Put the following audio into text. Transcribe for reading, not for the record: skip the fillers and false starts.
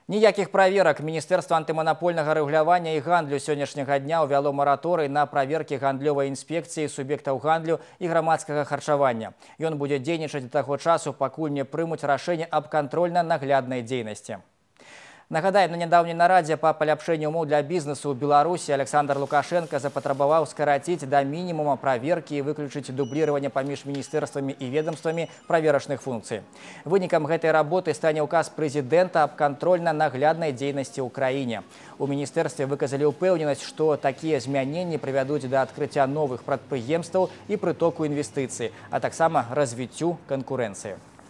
Ніякіх праверак. Міністэрства антыманапольнага рэгулявання і гандлю сённяшняга дня ўвяло мараторый на праверкі гандлёвай інспекцыі суб'ектаў гандлю і грамадскага харчавання. Ён будзе дзейнічаць да таго часу, пакуль не прымуць рашэнне аб кантрольна-нагляднай дзейнасці. Нагадаем, на нядаўняй нарадзе па паляпшэнню умоў для бізнесу ў Беларусі Александр Лукашенко запатрабаваў скараціць да мінімума праверкі і выключыць дубліраванне паміж міністэрствамі і ведомствамі праверачных функцый. Вынікам гэтай работы стане ўказ прэзідэнта аб кантрольна-нагляднай дзейнасці ў краіне. У міністэрстве выказалі ўпэўненасць, што такія змяненні прывядуць да адкрыцця новых прадпрыемстваў і прытоку інвестыцый, а таксама развіццю канкурэнцыі.